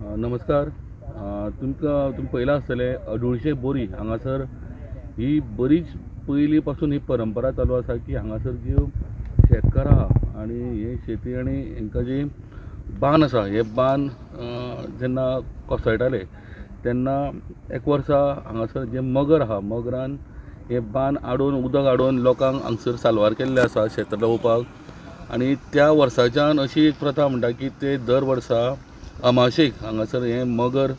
नमस्कार. तुमकां तुमी पळयलां आसतलें अडुळशे बोरी हांगासर ही बरीच पयलीं पासून ही परंपरा चालू आसा की हांगासर ज्यो शेतकार आहा आनी हे शेती आनी हेंकां जी बांद आसा हे बांद जेन्ना कोसळटाले तेन्ना एक वर्सा हांगासर जे मगर आहा मगरान हे बांद आडोवन उदक आडोवन लोकांक हांगसर साल्वार केल्ले आसा शेतां रोवपाक. आनी त्या वर्साच्यान अशी एक प्रथा म्हणटा की ते दर वर्सा अमाशेक हांगासर हें मगर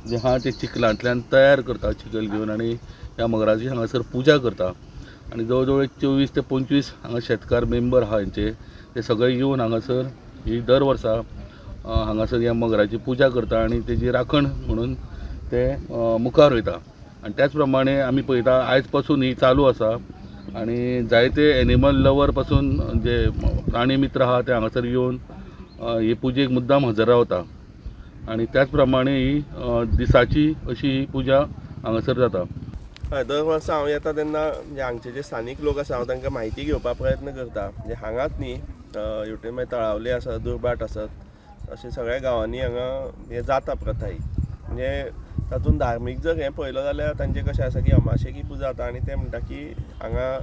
जें आहा तें चिखलांतल्यान तयार करता, चिखल घेवन, आनी ह्या मगराची हांगासर पुजा करता. आनी जवळ जवळ 24 ते 25 हांगा शेतकार मेंबर आहा हेंचे, ते सगळे येवन हांगासर ही दर वर्सा हांगासर ह्या मगराची पुजा करता आनी तेजी राखण म्हणून ते मुखार वयता. आनी त्याच प्रमाणे आमी पळयता आयज पासून ही चालू आसा आनी जायते एनिमल लवर पासून जे प्राणी मित्र आहा ते हांगासर येवन हे पुजेक मुद्दाम हजर रावता. आनी त्याच प्रमाणे ही दिसाची अशी ही पुजा हांगासर जाता. हय, दर वर्सा हांव येता तेन्ना म्हणजे हांगचे जे स्थानीक लोक आसा हांव तांकां म्हायती घेवपाक प्रयत्न करता. म्हणजे हांगाच न्ही, हेवटेन मागीर तळावले आसत, दुर्भाट आसत, अशें सगळ्या गांवांनी हांगा हें जाता प्रथा ही. म्हणजे तातूंत धार्मीक जर हें पळयलो जाल्यार तांचें कशें आसा की अमाशेक ही पुजा जाता आनी ते म्हणटा की हांगा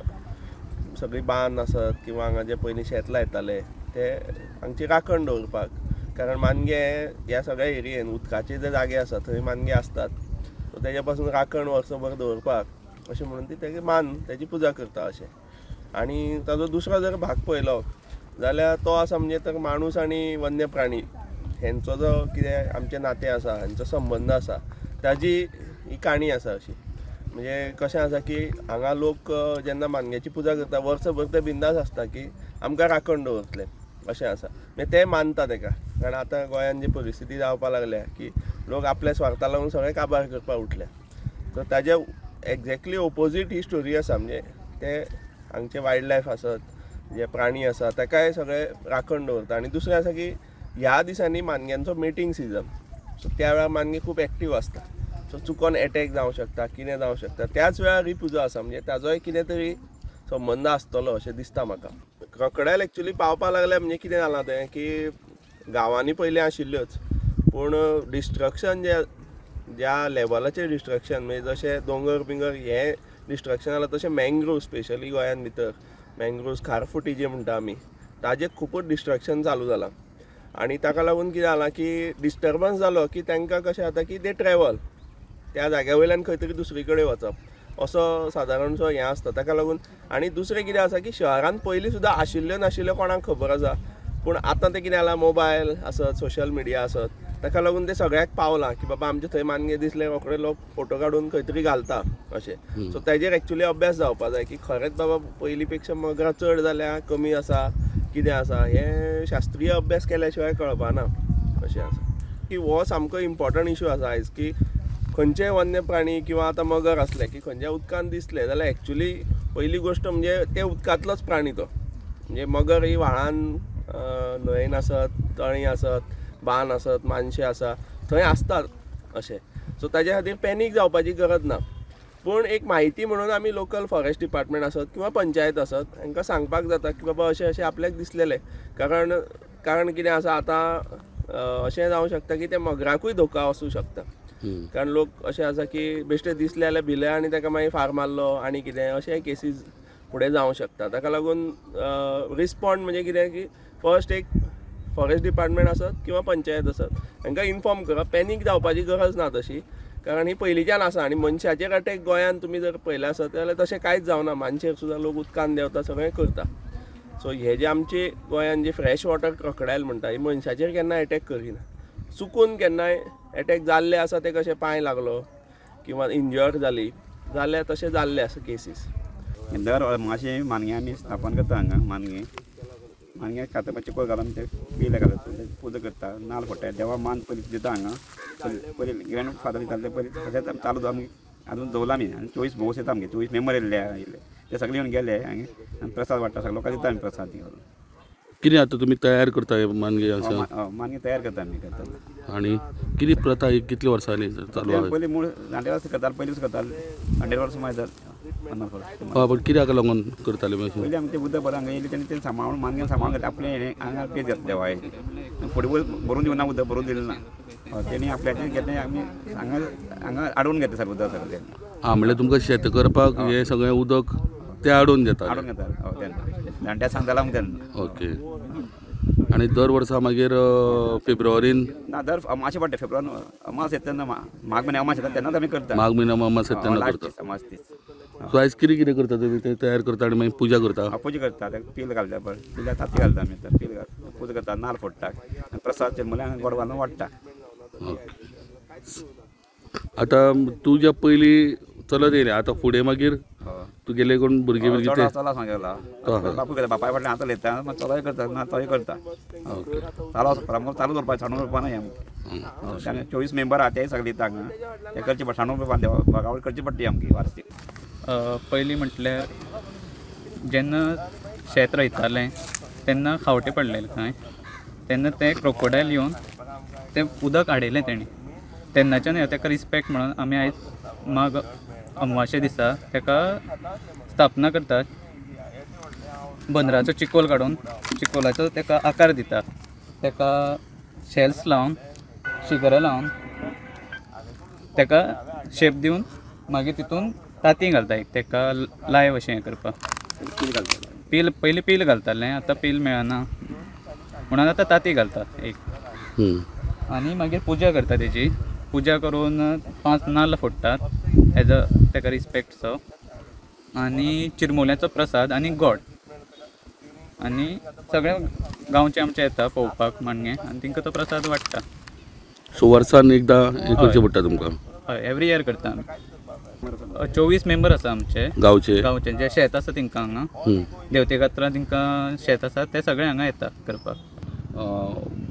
सगळी बांद आसत किंवा हांगा जे पयलीं शेत लायताले ते हांगची राखण दवरपाक, कारण मानगे ह्या सगळ्या एरियेन उदकाचे जे जागे आसा थंय मानगे आसतात, सो तेज्या पासून राखण वर्सभर दवरपाक अशें म्हणून ती तेगे मान तेजी पुजा करता अशें. आनी ताजो दुसरो जर भाग पळयलो जाल्यार तो आसा म्हणजे तर माणूस आनी वन्य प्राणी हेंचो जो कितें आमचें नातें आसा, हेंचो संबंद आसा, ताजी ही काणी आसा अशी. म्हणजे कशें आसा की हांगा लोक जेन्ना मानग्याची पुजा करता वर्सभर ते बिंदास आसता की आमकां राखण दवरतले अशें आसा. मागीर ते मानता तेका, कारण आतां गोंयांत जी परिस्थिती जावपाक लागल्या की लोक आपल्या स्वार्था लागून सगळें काबार करपाक उठल्या, सो ताजे एक्झॅक्टली ओपोजीट ही स्टोरी आसा. म्हणजे ते हांगचे वायल्ड लायफ आसत, जे प्राणी आसा ताकाय सगळे राखण दवरता. आनी दुसरें आसा की ह्या दिसांनी मानग्यांचो मेटींग सिजन, सो त्या वेळार मानगे खूब एक्टीव आसता, सो चुकोन एटॅक जावं शकता, कितें जावं शकता, त्याच वेळार ही पुजा आसा. म्हणजे ताजोय कितें तरी संबंद आसतलो अशें दिसता म्हाका. क्रॉकडायल एक्चुली पावपाक लागल्या म्हणजे कितें जालां तें की गांवांनी पयलीं आशिल्ल्योच, पूण डिस्ट्रक्शन जे ज्या लेवलाचेर डिस्ट्रक्शन म्हणजे जशें दोंगर बिंगर हें डिस्ट्रक्शन जालां तशें मँग्रोव्स स्पेशली गोंयांत भितर मँग्रोव्स खारफुटी जे म्हणटा आमी ताजें खुबूच डिस्ट्रक्शन चालू जालां. आनी ताका लागून कितें जालां की डिस्टर्बन्स जालो की तांकां कशें जाता की ते ट्रॅवल त्या जाग्या वयल्यान खंय तरी दुसरी कडेन वचप असो सादारणसो हें आसता ताका लागून. आनी दुसरें कितें आसा की शहरांत पयलीं सुद्दां आशिल्ल्यो नाशिल्ल्यो कोणाक खबर आसा, पूण आतां तें कितें जालां मोबायल आसत, सोशल मिडिया आसत, ताका लागून तें सगळ्याक पावलां की बाबा आमचे थंय मानगे दिसले रोखडे लोक फोटो काडून खंय तरी घालता अशें. सो ताजेर एक्चुली अभ्यास जावपा जाय की खरेंच बाबा पयलीं पेक्षा मगरां चड जाल्या कमी आसा कितें आसा, हें शास्त्रीय अभ्यास केल्या शिवाय कळपा ना अशें आसा. की हो सामको इम्पॉर्टंट इशू आसा आयज की खंयचेय वन्य प्राणी किंवा आतां मगर आसले की खंयच्या उदकांत दिसले जाल्यार एक्चुली पयली गोश्ट म्हणजे ते उदकांतलोच प्राणी तो. म्हणजे मगर ही व्हाळान न्हंयेन आसत, तळी आसत, बांद आसत, मानशे आसा थंय आसतात अशें. सो ताजे खातीर पॅनीक जावपाची गरज ना, पूण एक म्हायती म्हणून आमी लोकल फॉरेस्ट डिपार्टमेंट आसत किंवा पंचायत आसत हांकां सांगपाक जाता की बाबा अशें अशें आपल्याक दिसलेलें. कारण कारण कितें आसा आतां अशें जावं शकता की ते मगराकूय धोका आसूं शकता, कारण लोक अशें आसा की बेश्टे दिसले जाल्यार भिले आनी ताका मागीर फार मारलो आनी कितें अशें केसीस फुडें जावं शकता. ताका लागून रिस्पॉन्ड म्हणजे कितें की फर्स्ट एक फॉरेस्ट डिपार्टमेंट आसत किंवा पंचायत आसत हांकां इन्फॉर्म करप, पॅनीक जावपाची गरज ना तशी, कारण ही पयलींच्यान आसा. आनी मनशाचेर अटॅक गोंयांत तुमी जर पळयलें आसत जाल्यार तशें कांयच जावना, मानशेर सुद्दां लोक उदकान देंवता, सगळें करता. सो हे जे आमचे गोंयांत जे फ्रेश वॉटर क्रॉकडायल म्हणटा ही मनशाचेर केन्ना एटॅक करिना, चुकून केन्नाय एटॅक जाल्ले आसा ते कशें पांय लागलो किंवा इंजर जाली जाल्यार तशें जाल्ले आसा केसीस. दर मातशें मानगे आमी स्थापन करता हांगा, मानगे मानगे खाता चिकोल घालून ते पिले घालता, पुजा करता, नाल फोडटा, देवा मान पयलीं दिता हांगा. पयलीं ग्रँड फादर दिताले ते पयलीं तशेंच चालू आमी आजून दवरला आमी. आनी 24 भोवस येता आमगे, 24 मेंबर येयल्ले आयिल्ले ते सगळे येवन गेले आनी प्रसाद वाडटा, सगळे लोकांक दिता आमी प्रसाद घालून. कितें आतां तुमी तयार करता मानगे आसा? मानगे तयार करता आमी करता. आनी कितें प्रथा ही कितले वर्सांनी चालू आसा? पयलीं मूळ जाणटे वर्सां करताले, पयलींच करताले, 100 वर्सां मागीर जालें, 50 वर्सां. हय, पूण कित्याक लागून करताले? पयलीं आमी ते उदक बरें हांगा येयलें तेन्ना ते सांबाळून मानगे सांबाळून घेतले, आपलें हें हांगा पेज घातले देवाय फुडें भरून दिवना उदक भरून दिलें ना. तेणी आपल्याचें घेतलें आमी हांगा हांगा आडोवन घेता सर उदक सगळें. आं म्हणल्यार तुमकां शेत करपाक हें सगळें उदक ते आडोवन घेता? आडोवन घेता हय तेन्ना जाणट्या सांगताले आमकां तेन्ना. ओके. आनी दर वर्सा मागीर फेब्रुवारीन? ना, दर अमाशे पडटा फेब्रुवारीन अमास येता तेन्ना, माघ म्हयन्या अमास येता तेन्नाच आमी करता. माघ म्हयन्या अमास येता तेन्ना करता. अमास तीच. सो आयज कितें कितें करता तुमी? तें तयार करता आनी मागीर पुजा करता? पुजा करता, पील घालता, पिल्या तांती घालता आमी, पील घालता, पुजा करता, नाल्ल फोडटा, प्रसाद चिरमुल्यांक गोड घालून वाडटा. आतां तुज्या पयलीं चलत येयलें, आतां फुडें मागीर तुगेले कोण भुरगे भुरगे ते चलो सांगला बापूय करता, बापाय फाटल्यान आतां उलयता, मागीर चलोय करता, ना तोय करता. चालू आसा, चालू दवरपा सांडून दवरपा न्हय आमकां. 24 मेंबर आहा तेय सगळे येता हांगा, ते करचे पडटा, सांडून दवरपा देवा करची पडटी आमची वार्षिक. पयलीं म्हटल्यार जेन्ना शेत रोयतालें तेन्ना खावटे पडलेले खंय, तेन्ना ते क्रोकोडायल येवन तें उदक हाडयलें तेणी. तेन्नाच्यान ताका रिस्पेक्ट म्हणून आमी आयज माघ अमावाशे दिसा ताका स्थापना करतात. बंदराचो चिकोल काडून चिकोलाचो ताका आकार दितात, ताका शेल्स लावन शिगरां लावन ताका शेप दिवन मागीर तितून तांतीं घालता एक ताका लायव अशें हें करपाक. पील पयलीं पील घालतालें, आतां पील मेळना म्हणून आतां तांतीं घालता एक. आनी मागीर पुजा करता तेजी, पुजा करून 5 नाल्ल फोडटात एज अ ताका रिस्पेक्टसो, आनी चिरमुल्याचो प्रसाद आनी गोड, आनी सगळे गांवचे आमचे येता पळोवपाक माणगे आनी तांकां तो प्रसाद वाडटा. सो वर्सान एकदां हें करचें पडटा तुमकां? हय, एवरी इयर करता आमी. 24 मेंबर आसा आमचे गांवचे, गांवचे जे शेत आसा तांकां हांगा देवते खातीर तांकां शेत आसा ते सगळे हांगा येता करपाक.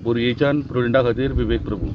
बोरयेच्यान प्रुडंटा खातीर विवेक प्रभू.